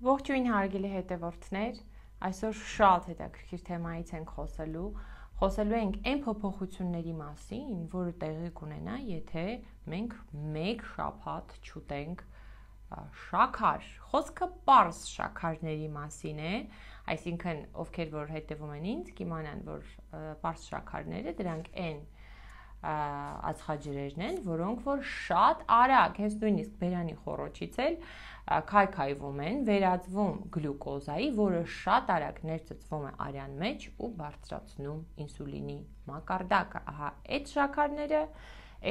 Ողջույն հարգելի հետևորդներ, այսօր շատ հետաքրքիր թեմայից ենք խոսելու ենք այն փոփոխությունների մասին, որը տեղի կունենա, եթե մենք մեկ շաբաթ չուտենք շաքար։ Խոսքը պարզ շաքարների մասին է, այսինքն ովքեր որ հետևում են ինձ, կիմանան, որ պարզ շաքարները դրանք են ածխաջրերն են, որոնք որ շատ արագ, հենց նույնիսկ բերանի խոռոչից էլ քայքայվում են, վերածվում գլյուկոզայի, որը շատ արագ ներծծվում է արյան մեջ ու բարձրացնում ինսուլինի մակարդակը։ Ահա այդ շաքարները,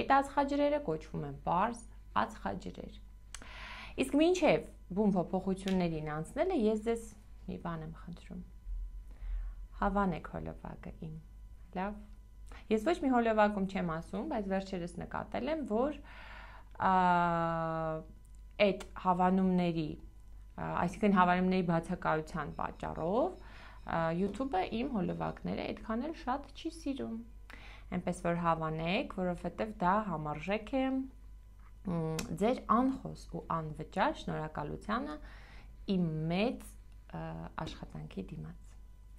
այդ ածխաջրերը կոչվում են պարզ ածխաջրեր։ Իսկ մինչև բուն փոփոխություններին անցնելը ես ձեզ մի բան եմ խնդրում։ Հավանեք հոլովակը իմ։ Լավ։ Ես ոչ մի հոլովակում չեմ ասում, բայց վերջերս նկատել եմ, որ այդ հավանումների, այսինքն հավանումների բացակայության պատճառով YouTube-ը իմ հոլովակները այդքան էլ շատ չի սիրում։ Այնպես որ հավանեք, որովհետև դա համարժեք է ձեր անխոս ու անվճար շնորհակալությանը իմ մեծ աշխատանքի դիմաց։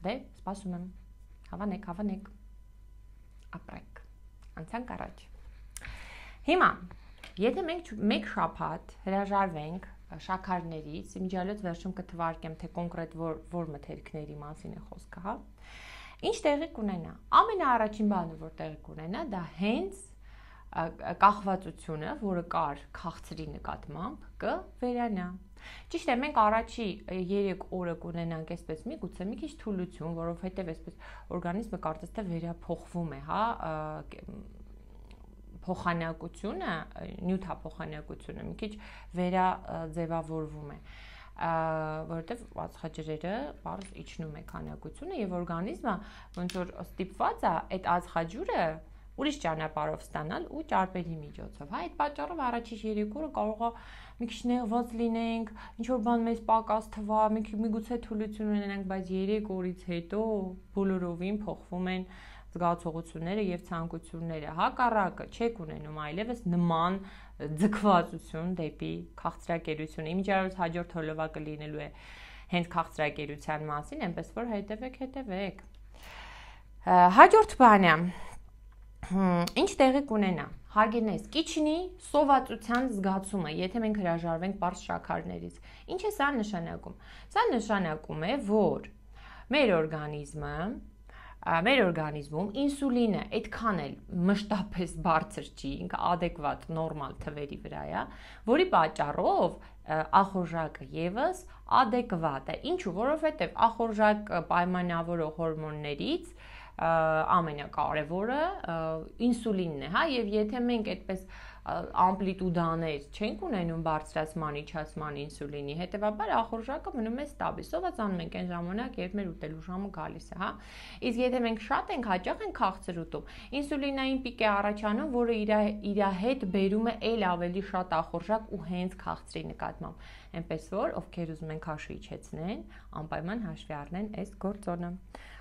Դե, սպասում եմ։ Հավանեք։ Ապրեք, անցանք առաջ։ Հիմա, եթե մենք մեկ շաբաթ հրաժարվենք շաքարներից, իմիջիալոց վերջում կթվարկեմ, թե կոնկրետ որ մթերքների մասին է խոսքը, հա, ինչ տեղի կունենա։ Ամենաառաջին բանը, որ տեղի կունենա, դա հենց կախվածությունը, որը կար քաղցրի նկատմամբ, կվերանա։ Ճիշտ է, մենք առաջի 3 օրը կունենանք այսպես միգուցե մի քիչ թուլություն, որովհետև այսպես օրգանիզմը կարծես թե վերափոխվում է, հա, փոխանակությունը, նյութափոխանակությունը մի քիչ վերաձևավորվում է, որովհետև ածխաջրերը բարձ իջնում է քանակությունը եւ օրգանիզմը ոնց որ ստիպված է այդ ածխաջուրը ուրիշ ճանապարհով ստանալ ու ճարպերի միջոցով, հա, այդ պատճառով առաջի 3 օրը կարող է մի քիչ նեղված լինենք, ինչ որ բան մեզ պակաս թվա, միգուցե թուլություն ունենանք, բայց 3 օրից հետո բոլորովին փոխվում են զգացողությունները եւ ցանկությունները, հակառակը չեք ունենում այլևս նման ձգվածություն դեպի քաղցրակերություն։ Իմիջիալոց հաջորդ հոլովակը լինելու է հենց քաղցրակերության մասին, այնպես որ հետևեք։ Հաջորդ բանը ինչ տեղի կունենա, հարգելիներս, կիչնի սովածության զգացումը, եթե մենք հրաժարվենք պարզ շաքարներից։ Ինչ է սա նշանակում։ Սա նշանակում է, որ մեր օրգանիզմում ինսուլինը այդքան էլ մշտապես բարձր չի, ինքը adekvat նորմալ թվերի վրա է, որի պատճառով ախորժակը եւս adekvat է։ Ինչու՞, որովհետեւ ախորժակ պայմանավորող հորմոններից ամենակարևորը ինսուլինն է, հա, եւ եթե մենք այդպես ամպլիտուդաներ չենք ունենում բարձրացման, իջացման ինսուլինի, հետեւաբար ախորժակը մնում է ստաբիլ։ Սովածանում ենք այն ժամանակ, երբ մեր ուտելու ժամը գալիս է, հա։ Իսկ եթե մենք շատ ենք, հաճախ ենք քաղցր ուտում, ինսուլինային պիկ է առաջանում, որը իր հետ բերում է ել ավելի շատ ախորժակ ու հենց քաղցրի նկատմամբ։ Այնպես որ ովքեր ուզում են քաշը իջեցնեն, անպայման հաշվի առնեն այս գործոնը։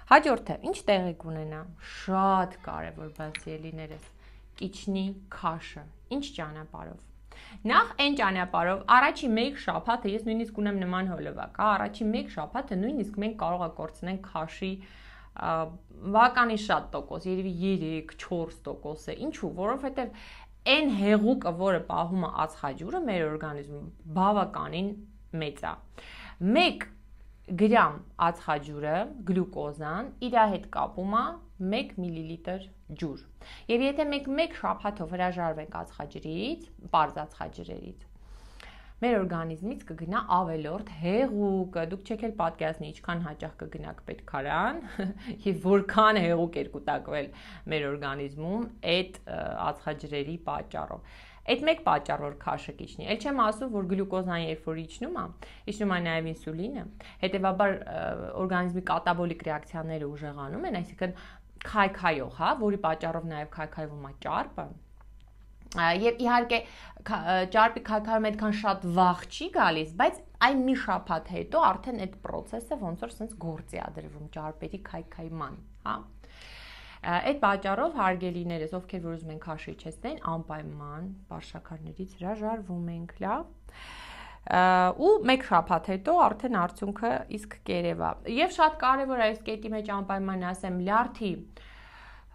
Հաջորդը, ինչ տեղի կունենա, շատ կարևոր բացի ելիներս, կիչնի քաշը, ինչ ճանապարհով։ Նախ այն ճանապարհով, առաջի 1 շաբաթը, ես նույնիսկ ունեմ նման հոլովակ, հա, առաջի 1 շաբաթը նույնիսկ մենք կարող ենք կորցնենք քաշի բավականին շատ տոկոս, երևի 3-4% է։ Ինչու՞, որովհետև այն հեղուկը, որը պահում է ածխաջուրը մեր օրգանիզմում, բավականին մեծ է։ 1 գրամ ածխաջուրը, գլյուկոզան, իր հետ կապում է 1 մլ ջուր։ Եվ եթե մենք 1 շաբաթով հրաժարվենք ածխաջրից, պարզ ածխաջրերից, մեր օրգանիզմից կգնա ավելորդ հեղուկը։ Դուք չեք էլ պատկերացնի ինչքան հաճախ կգնաք պետքարան եւ որքան հեղուկ էր կուտակվել մեր օրգանիզմում այդ ածխաջրերի պատճառով։ Այդ մեկ պատճառով քաշը կիջնի։ Էլ չեմ ասում, որ գլյուկոզան երբ որ իջնում է նաև ինսուլինը, հետեւաբար օրգանիզմի կատաբոլիկ ռեակցիաները ուժեղանում են, այսինքն քայքայող, հա, որի պատճառով նաև քայքայվում է ճարպը։ Եվ իհարկե ճարպի քայքայում այդքան շատ վաղ չի գալիս, բայց այն մի շաբաթ հետո արդեն այդ process-ը ոնց որ sense գործի է դրվում ճարպերի քայքայման, հա։ Այդ պատճառով հարգելիներս, ովքեր որ ուզում են քաշը իջեցնեն, անպայման պարզ շաքարներից հրաժարվում ենք, լավ։ ու մեկ շաբաթ հետո արդեն արդյունքը իսկ կերևա։ Եվ շատ կարևոր է այս կետի մեջ անպայման ասեմ լյարդի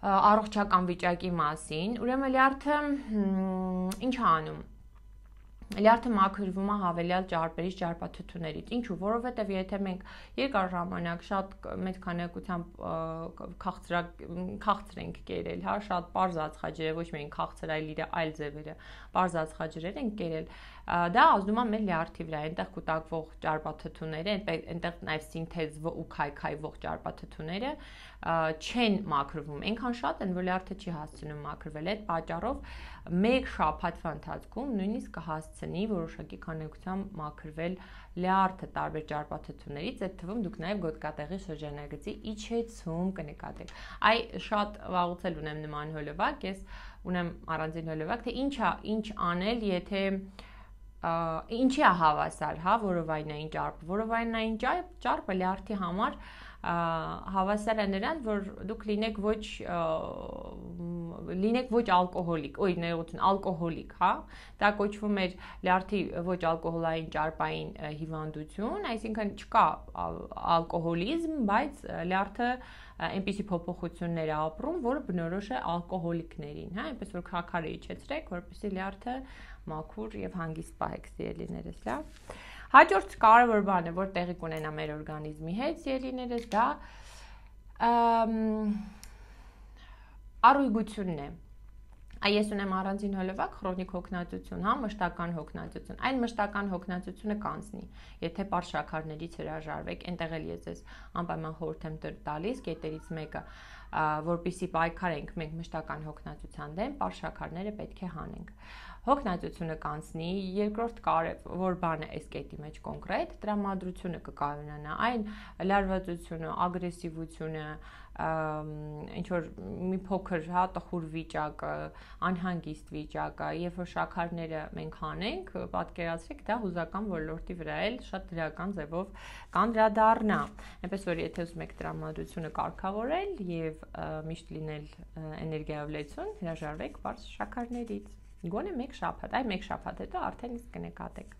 առողջական վիճակի մասին, ուրեմն լյարդը ինչ է անում։ Լյարդը մաքրվում է հավելյալ ճարպերից, ճարպաթթուներից։ Ինչու՞, որովհետև եթե մենք երկար ժամանակ շատ մեծ քանակությամբ քաղցր ենք կերել, հա, շատ պարզ ածխաջրեր, ոչ միայն քաղցր, այլ ձևերը, պարզ ածխաջրեր ենք կերել, դա ազդում է մեր լյարդի վրա, այնտեղ կուտակվող ճարպաթթուները, այնտեղ նաև սինթեզվող ու քայքայվող ճարպաթթուները չեն մաքրվում, այնքան շատ են, որ լյարդը չի հասցնում մաքրվել։ Այդ պատճառով մեկ շաբաթվա ընթացքում նույնիսկ կհասցնի որոշակի քանակությամբ մաքրվել լյարդը տարբեր ճարպաթթուներից, այդ թվում դուք նաև գոտկատեղի շրջանագծի իջեցում կնկատեք։ Այ շատ վաղուց էլ ունեմ նման հոլովակ, ես ունեմ առանձին հոլովակ, թե ինչ անել, եթե ինչի է հավասար, հա, որովայնային ճարպը։ Որովայնային ճարպը լյարդի համար հավասար է նրան, որ դուք լինեք ոչ ալկոհոլիկ, ալկոհոլիկ, հա, դա կոչվում է լյարդի ոչ ալկոհոլային ճարպային հիվանդություն, այսինքն չկա ալկոհոլիզմ, բայց լյարդը այնպիսի փոփոխություններ է ապրում, որը բնորոշ է ալկոհոլիկներին, հա, այնպես որ քարը իջեցրեք, որպեսզի լյարդը մաքուր եւ հանգիստ պահեք, սիրելիներս, լավ։ Հաջորդ կարևոր բանը, որ տեղի կունենա մեր օրգանիզմի հետ, սիրելիներս, դա առույգությունն է։ Ես ունեմ առանձին հոլովակ քրոնիկ հոգնածություն, հա, մշտական հոգնածություն։ Այն մշտական հոգնածությունը կանցնի, եթե պարզ շաքարներից հրաժարվեք, այնտեղ էլ ես ես անպայման խորհուրդ եմ տալիս, կետերից մեկը, որպեսզի պայքարենք մենք մշտական հոգնածության դեմ, պարզ շաքարները պետք է հանենք։ Հոգնածությունը կանցնի, երկրորդ կարևոր բանը այս կետի մեջ կոնկրետ տրամադրությունը կկայունանա, այն լարվածությունը, ագրեսիվությունը, ինչ որ մի փոքր հա տխուր վիճակը, անհանգիստ վիճակը, երբ որ շաքարները մենք հանենք, պատկերացրեք, դա հուզական ոլորտի վրա էլ շատ դրական ձևով կանդրադառնա։ Այնպես որ եթե ուզում եք տրամադրությունը կարգավորել եւ միշտ լինել էներգիայով լեցուն, հրաժարվեք բարձ շաքարներից։ Գոնե մեկ շաբաթ, այ մեկ շաբաթ հետո արդեն իսկ կնկատեք։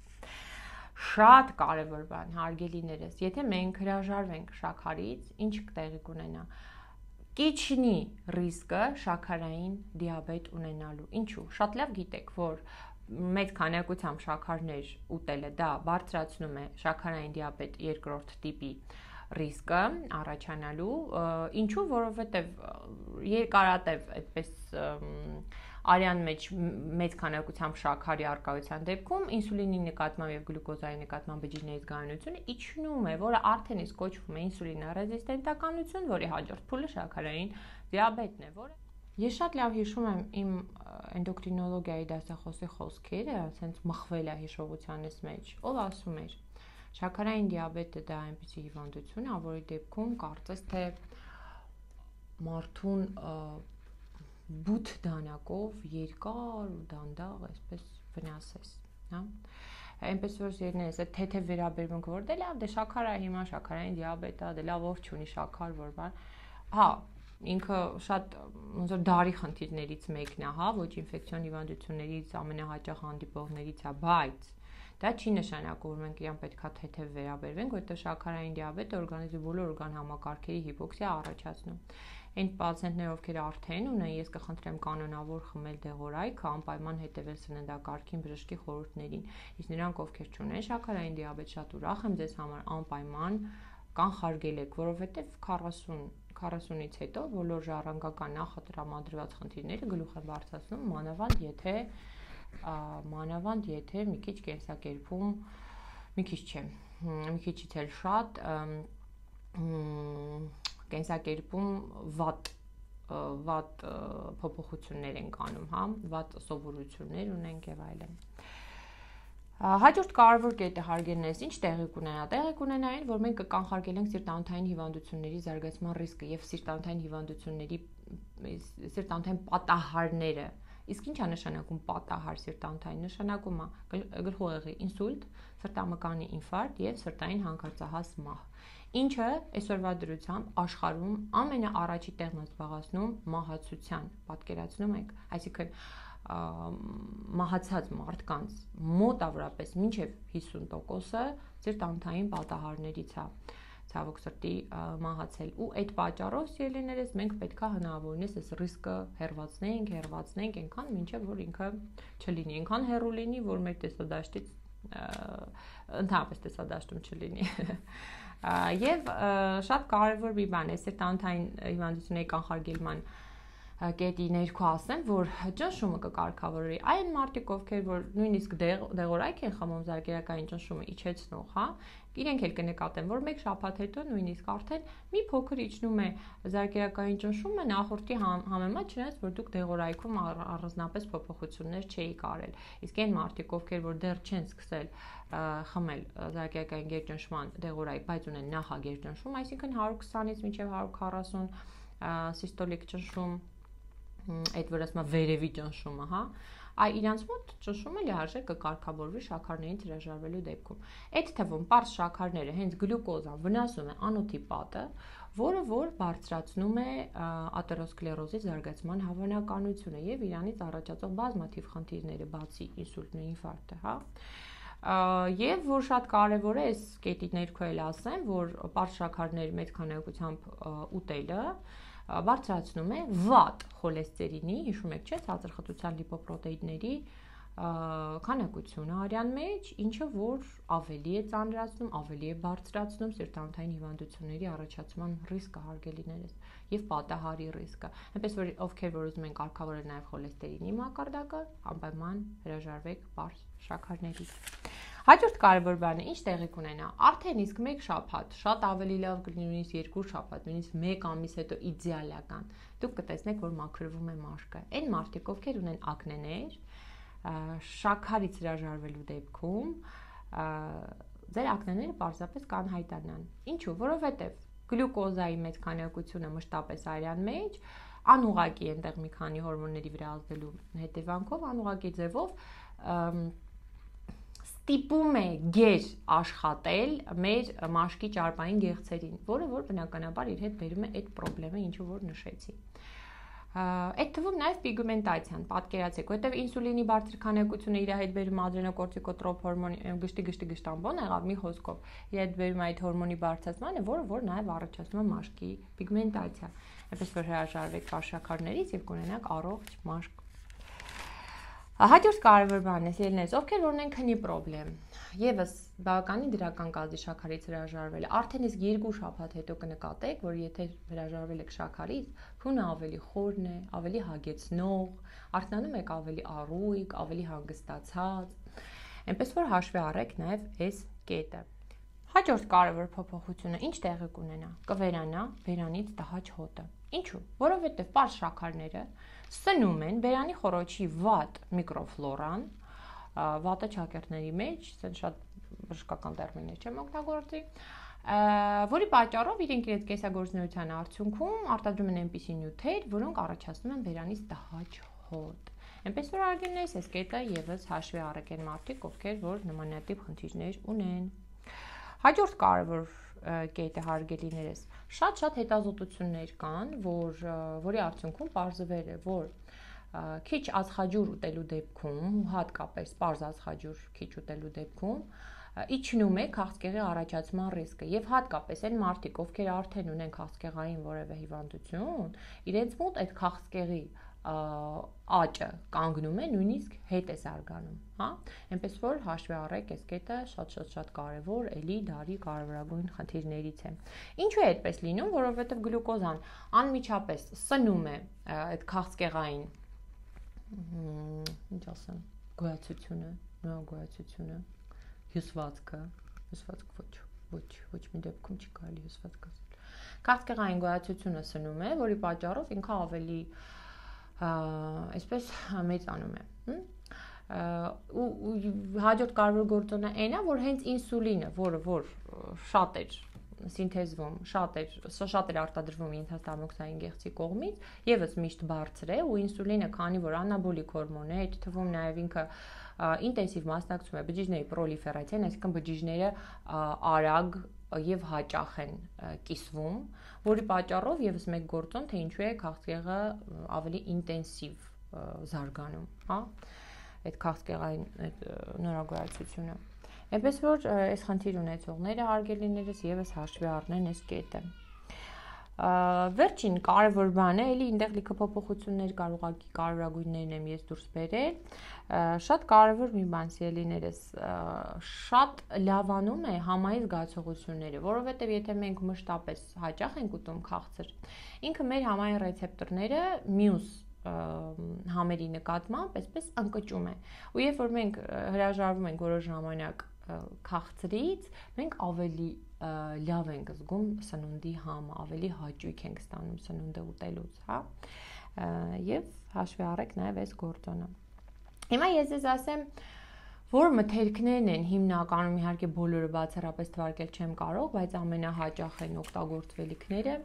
Շատ կարևոր բան, հարգելիներս, եթե մենք հրաժարվենք շաքարից, ինչ տեղի կունենա։ Կիչնի ռիսկը շաքարային դիաբետ ունենալու։ Ինչու՞։ Շատ լավ գիտեք, որ մեծ քանակությամբ շաքարներ ուտելը դա բարձրացնում է շաքարային դիաբետ երկրորդ տիպի ռիսկը առաջանալու, ինչու, որովհետև երկարատև այդպես արյան մեջ մեծ քանակությամբ շաքարի առկայության դեպքում ինսուլինի նկատմամբ եւ գլյուկոզայի նկատմամբ բջիջների զգայունությունը իջնում է, որը արդեն իսկ կոչվում է ինսուլինառեզիստենտականություն, որի հաջորդ փուլը շաքարային դիաբետն է, որը Ես շատ լավ հիշում եմ իմ էնդոկրինոլոգիայի դասախոսի խոսքերը, ասենց մխվել է հիշողությանս մեջ, ով ասում էր շաքարային դիաբետը դա այնպիսի հիվանդություն է, որի դեպքում կարծես թե մարդուն բութ դանակով երկար ու դանդաղ այսպես վնասես, հա։ Այնպես որ երնես այդ թեթև վերաբերմունքը որ դե լավ, դե շաքարը հիմա շաքարային դիաբետ է, դե լավ ով չունի շաքար, որ բան։ Հա, ինքը շատ ոնց որ դարի խնդիրներից մեկն է, հա, ոչ ինֆեկցիոն հիվանդություններից ամենահաճախ հանդիպողներից է, բայց դա չի նշանակում, որ մենք իրան պետքա թեթև վերաբերվենք, որովհետև շաքարային դիաբետը օրգանիզմի բոլոր օրգան համակարգերի հիպոքսիա առաջացնում։ Այն պացիենտները, ովքեր արդեն ունեն, ես կխնդրեմ կանոնավոր խմել դեղորայքը, անպայման հետևել սննդակարգին, բժշկի խորհուրդներին։ Իսկ նրանք, ովքեր չունեն շաքարային դիաբետ, շատ ուրախ եմ ձեզ համար անպայման կանխարգելեք, որովհետև 40-ից հետո բոլոր ժառանգական նախատրամադրված խնդիրները գլուխ են բարձրացնում, մանավանդ եթե մի քիչ կենսակերպում, մի քիչից էլ շատ կենսակերպում վատ փոփոխություններ ենք անում, հա, վատ սովորություններ ունենք եւ այլն։ Հաջորդ կարևոր կետը հարգելներս ինչ տեղի կունենա։ Տեղի կունենա այն, որ մենք կանխարգելենք սիրտանոթային հիվանդությունների զարգացման ռիսկը եւ սիրտանոթային պատահարները։ Իսկ ինչ է նշանակում պատահար սիրտանոթային։ Նշանակում է գլխուղեղի ինսուլտ, սրտամկանի ինֆարկտ եւ սրտային հանգարցահաս մահ։ Ինչը այսօրվա դրությամբ աշխարհում ամենաառաջի տեղն է զբաղեցնում մահացության, պատկերացնում եք, այսինքն մահացած մարդկանց մոտավորապես մինչև 50%-ը սիրտ-անոթային պատահարներից է ցավոք սրտի մահացել ու այդ պատճառով սիրելիներս մենք պետքա հնարավորինս այս ռիսկը հեռացնենք այնքան մինչև որ ինքը չլինի, այնքան հեռու լինի, որ մեր տեսադաշտից ընդհանրապես տեսադաշտում չլինի։ Եվ շատ կարևոր մի բան է սիրտ-անոթային հիվանդությունների կանխարգելման կետի ներքո ասեմ, որ ճնշումը կկարգավորվի այն մարդիկ, ովքեր որ նույնիսկ դեղորայք են խմում զարկերակային ճնշումը իջեցնող, հա, իրենք էլ կնկատեն, որ մեկ շաբաթ հետո նույնիսկ արդեն մի փոքր իջնում է զարկերակային ճնշումը նախորդի համեմատ, չնայած որ դուք դեղորայքում առանձնապես փոփոխություններ չէիք արել։ Իսկ այն մարդիկ, ովքեր որ դեռ չեն սկսել խմել զարկերակային գերճնշման դեղորայք, բայց ունեն նախագերճնշում, այսինքն 120-ից մինչև 140 սիստոլիկ ճնշում, այդ որ ասում վերևի ճնշումը, հա, իրանց մոտ ճնշումը լիարժեք կկարգավորվի շաքարներին հրաժարվելու դեպքում։ Այդ թվում պարզ շաքարները հենց գլյուկոզան վնասում է անոթի պատը, որը որ բարձրացնում է աթերոսկլերոզի զարգացման հավանականությունը եւ իրանից առաջացող բազմաթիվ խնդիրները, բացի ինսուլտն ու ինֆարկտը, հա։ Եվ որ շատ կարևոր է այս կետի ներքո էլ ասեմ, որ պարզ շաքարների մեծ քանակությամբ ուտելը բարձրացնում է վատ խոլեստերինի, հիշում եք, չէ՞, ցածրխտության լիպոպրոտեինների քանակությունը արյան մեջ, ինչը որ ավելի է ծանրացնում, ավելի է բարձրացնում սիրտ-անոթային հիվանդությունների առաջացման ռիսկը հարգելիներս եւ պատահարի ռիսկը։ Այնպես որ ովքեր որ ուզում են կարգավորել նաեւ խոլեստերինի մակարդակը, անպայման հրաժարվեք պարզ շաքարներից։ Հաջորդ կարևոր բանը ինչ տեղի կունենա, արդեն իսկ մեկ շաբաթ, շատ ավելի լավ կլինի նույնիսկ երկու շաբաթ, նույնիսկ մեկ ամիս հետո իդեալական, դուք կտեսնեք, որ մաքրվում է մաշկը։ Այն մարդիկ, ովքեր ունեն ակնեներ, շաքարից հրաժարվելու դեպքում ձեր ակնեները պարզապես կանհայտանան։ Ինչու՞, որովհետև գլյուկոզայի մեծ քանակությունը մշտապես արյան մեջ անուղղակի այնտեղ մի քանի հորմոնների վրա ազդելու հետևանքով անուղղակի ձևով ստիպում է գեր աշխատել մեր մաշկի ճարպային գեղձերին, որը որ բնականաբար իր հետ բերում է այդ խնդրը, ինչը որ նշեցի։ Այդ թվում նաև պիգմենտացիան, պատկերացեք, որտեղ ինսուլինի բարձր քանակությունը իր հետ բերում ադրենոկորտիկոտրոփ հորմոնի գշտի-գշտամբոն եղավ մի խոսքով, իր հետ բերում այդ հորմոնի բարձրացմանը, որը նաև առաջացնում է մաշկի պիգմենտացիա։ Այնպես որ հրաժարվեք շաքարներից եւ կունենաք առողջ մաշկ։ Հաջորդ կարևոր բանն է, սիրելիներս, ովքեր ունեն քնի խնդրեմ, եւս բավականին դրական կազի շաքարից հրաժարվել, արդեն իսկ 2 շաբաթ հետո կնկատեք, որ եթե հրաժարվել եք շաքարից, քունը ավելի խորն է, ավելի հագեցնող, արթնանում եք ավելի առույգ, ավելի հանգստացած, այնպես որ հաշվի առեք նաեւ այս կետը։ Հաջորդ կարևոր փոփոխությունը ինչ տեղի կունենա, կվերանա բերանից տհաճ հոտը։ Ինչու՞, որովհետև պարզ շաքարները սնում են բերանի խոռոչի վատ միկրոֆլորան, վատը ճակերտների մեջ, ասեն շատ բժշկական տերմիններ չեմ օգտագործի, որի պատճառով իրենք իրենց կեսագործունեության արդյունքում արտադրում են այնպիսի նյութեր, որոնք առաջացնում են բերանից տհաճ հոտ։ Այնպես որ արգելներս այս կետը եւս հաշվի առեք են մարդիկ, ովքեր որ նմանատիպ խնդիրներ ունեն։ Հաջորդ կարևոր կետը հարգելիներս, շատ հետազոտություններ կան, որի արդյունքում պարզվել է, որ քիչ ածխաջուր ուտելու դեպքում, հատկապես պարզ ածխաջուր քիչ ուտելու դեպքում, իջնում է քաղցկեղի առաջացման ռիսկը եւ հատկապես այն մարդիկ, ովքեր արդեն ունեն քաղցկեղային որևէ հիվանդություն, իրենց մոտ այդ քաղցկեղի աճը կանգնում է, նույնիսկ հետ է զարգանում, հա, այնպես որ հաշվի առեք այս կետը շատ կարևոր, էլի դարի կարևորագույն խնդիրներից է։ Ինչու է այդպես լինում, որովհետև գլյուկոզան անմիջապես սնում է այդ քաղցկեղային, ինչ ասեմ, գոյացությունը, հյուսվածքը ոչ մի դեպքում չի կարելի հյուսվածք ասել։ Քաղցկեղային գոյացությունը սնում է, որի պատճառով ինքը ավելի այսպես մեծանում է։ Ու հաջորդ կարևոր գործոնը այն է, որ հենց ինսուլինը, որը որ շատ էր սինթեզվում, շատ էր արտադրվում ենթաստամոքսային գեղձի կողմից, եւս միշտ բարձր է, ու ինսուլինը, քանի որ անաբոլիկ հորմոն է, այդ թվում նաեւ ինքը ինտենսիվ մասնակցում է բջիջների պրոլիֆերացիան, այսինքն բջիջները արագ եւ հաճախ են կիսվում, որի պատճառով եւս մեկ գործոն, թե ինչու է քաղցկեղը ավելի ինտենսիվ զարգանում, հա, այդ քաղցկեղային այդ նորագույացությունը։ Այնպես որ այս խնդիր ունեցողները հարգելիներս եւս հաշվի առնեն այս կետը։ Վերջին կարևոր բանը էլի այնտեղ լիքը փոփոխություններ կարևորագույններն եմ ես դուրս բերել։ Շատ կարևոր մի բան սիրելիներս, շատ լավանում է համայի զգացողությունները, որովհետև եթե մենք մշտապես հաճախ ենք ուտում քաղցր, ինքը մեր համայի ռեցեպտորները մյուս համերի նկատմամբ այսպես ընկճում է։ Ու երբ որ մենք հրաժարվում ենք որոշ ժամանակ քաղցրից, մենք ավելի լավ ենք զգում սնունդի համը, ավելի հաճույք ենք ստանում սնունդը ուտելուց, հա։ Եվ հաշվի առեք նաև այս գործոնը։ Հիմա ես ձեզ ասեմ, որ մթերքներն են հիմնականում, իհարկե բոլորը բացառապես թվարկել չեմ կարող, բայց ամենահաճախ են օգտագործվելիքները,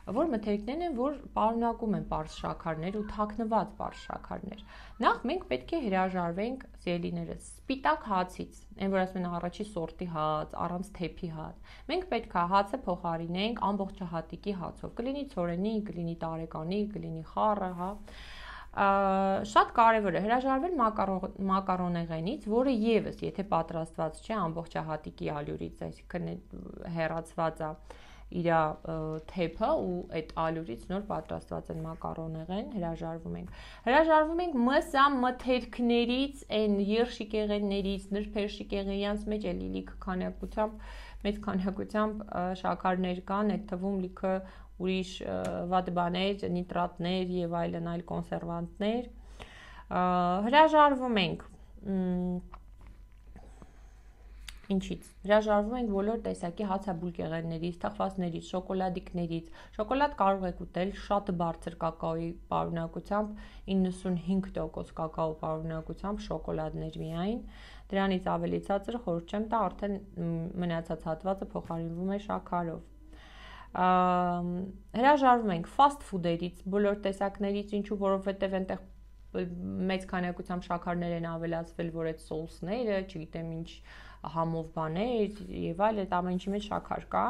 որ մթերքներն են, որ պարունակում են պարզ շաքարներ ու թաքնված պարզ շաքարներ։ Նախ մենք պետք է հրաժարվենք սիրելիներս սպիտակ հացից, այն որ ասում են առաջի սորտի հաց, առանց թեփի հաց։ Մենք պետք է հացը փոխարինենք ամբողջահատիկի հացով, կլինի ցորենի, կլինի տարեկանի, կլինի խառը, հա։ Շատ կարևոր է հրաժարվել մակարոնեղենից, որը եւս, եթե պատրաստված չէ ամբողջահատիկի ալյուրից, այսինքն հեռացված է իր թեփը ու այդ ալյուրից նոր պատրաստված են մակարոնեղեն, հրաժարվում ենք մսամթերքներից, այն երշիկեղեններից, նրբերշիկեղենյանց մեջ էլի լիքը քանակությամբ, մեծ քանակությամբ շաքարներ կան, այդ թվում լիքը ուրիշ վատ բաներ, նիտրատներ եւ այլն այլ կոնսերվանտներ, հրաժարվում ենք ինչից։ Հրաժարվում ենք բոլոր տեսակի հացաբուլկեղեններից, թխվածներից, շոկոլադիկներից։ Շոկոլադ կարող եք ուտել շատ բարձր կակաոյի պարունակությամբ, 95% կակաո պարունակությամբ շոկոլադներ միայն։ Դրանից ավելի ցածր խորհուրդ չեմ տա, արդեն մնացած հատվածը փոխարինվում է շաքարով։ Հրաժարվում ենք fast food-երից, բոլոր տեսակներից, ինչու, որովհետև այնտեղ մեծ քանակությամբ շաքարներ են ավելացվել, որ այդ սոուսները, չգիտեմ ինչ համով բաներ եւ այլ այդ ամեն ինչի մեջ շաքար կա։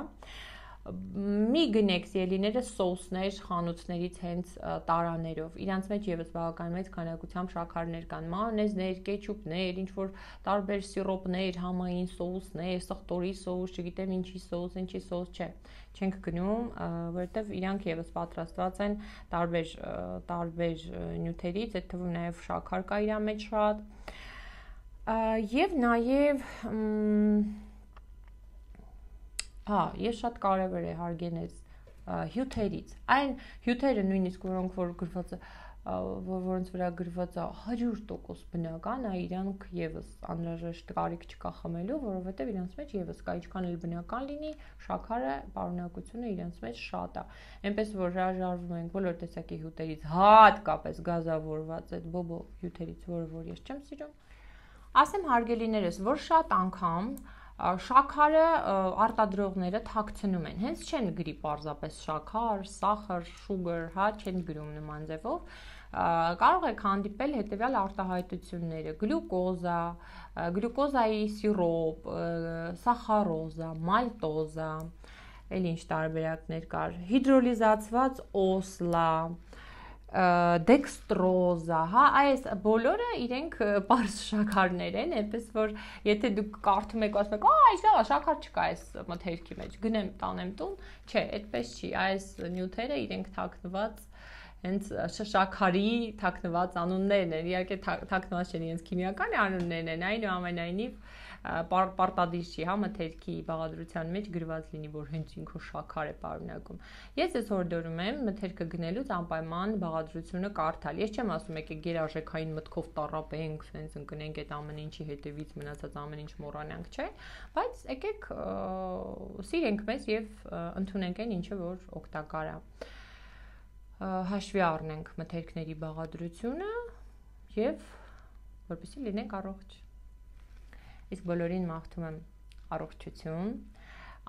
Մի գնեք սիրելիները սոուսներ խանութներից հենց տարաներով, իրանց մեջ եւս բավական մեծ քանակությամբ շաքարներ կան, մանեզներ, կեչուպներ, ինչ որ տարբեր սիրոպներ, համային սոուսներ, սխտորի սոուս, չգիտեմ ինչի սոուս չէ, չենք գնում, որովհետեւ իրանք եւս պատրաստված են տարբեր նյութերից, այդ թվում նաեւ շաքար կա իր մեջ շատ։ Եվ նաև ես շատ կարևոր է հարգենես հյութերից, այն հյութերը նույնիսկ որոնց վրա գրված է 100% բնական, իրանք եւս անհրաժեշտ կարիք չկա խմելու, որովհետեւ իրանց մեջ եւս կա ինչքան էլ բնական լինի, շաքարը պարունակությունը իրանց մեջ շատ է։ Այնպես որ հրաժարվում ենք բոլոր տեսակի հյութերից, հատկապես գազավորված այդ բոբո հյութերից, որ ես չեմ սիրում։ Ասեմ հարգելիներս, որ շատ անգամ շաքարը արտադրողները թաքցնում են, հենց չեն գրի պարզապես շաքար, սախար, շուգար, հա, չեն գրում նման ձևով, կարող եք հանդիպել հետևյալ արտահայտությունները՝ գլյուկոզա, գլյուկոզայի սիրոպ, սախարոզա, մալտոզա, էլ ինչ տարբերակներ կար, հիդրոլիզացված օսլա, դեքստրոզա, հա, այս բոլորը իրենք պարզ շաքարներ են, այնպես որ եթե դուք կարդում եք, ասում եք, այս լավ, շաքար չկա այս մթերքի մեջ, գնեմ տանեմ տուն, չէ, այդպես չի, այս նյութերը իրենք թաքնված հենց շաքարի թաքնված անուններն են, իհարկե թաքնված չեն, իրենց քիմիական անուններն են, այնուամենայնիվ պարտադիր չի, հա, մթերքի բաղադրության մեջ գրված լինի, որ հենց ինքը շաքար է պարունակում։ Ես ես հորդորում եմ մթերքը գնելուց անպայման բաղադրությունը կարդալ։ Ես չեմ ասում եկեք գերարժեքային մտքով տառապենք, սենց ընկնենք այդ ամեն ինչի հետևից, մնացած ամեն ինչ մոռանանք, չէ, բայց եկեք սիրենք մեզ եւ ընդունենք այն ինչը որ օգտակար է։ Հաշվի առնենք մթերքների բաղադրությունը եւ որպեսզի լինենք առողջ։ Իսկ բոլորին մաղթում եմ առողջություն,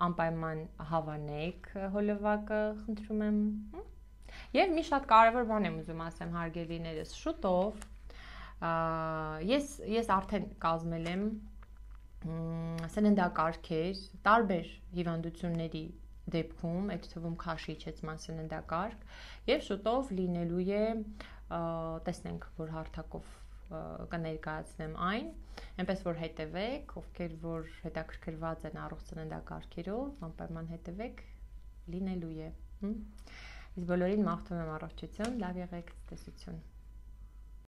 անպայման հավանեք հոլովակը, խնդրում եմ։ Եվ մի շատ կարևոր բան եմ ուզում ասեմ հարգելիներս, շուտով ես արդեն կազմել եմ սննդակարգեր տարբեր հիվանդությունների դեպքում, այդ թվում քաշի իջեցման սննդակարգ, եւ շուտով լինելու է տեսնենք, որ հարթակով կներկայացնեմ այն, այնպես որ հետևեք, ովքեր որ հետաքրքրված են առողջ ծննդակարգերով, անպայման հետևեք, լինելու է։ Իսկ բոլորին մաղթում եմ առողջություն, լավ եղեք, ցտեսություն։